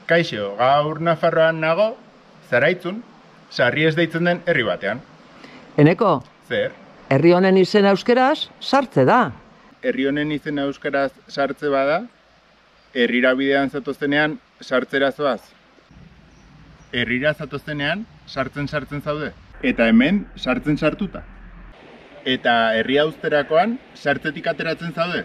Kaixo, gaur Nafarroan nago, Zaraitzun, Sarri ez deitzen den herri batean. Eneko, Zer? herri honen izena euskeraz sartze da. Herri honen izena euskaraz sartze bada, herrira bidean zatoztenean sartzera zoaz. Herrira zatoztenean sartzen zaude. Eta hemen sartzen sartuta. Eta herria uzterakoan sartzetik ateratzen zaude.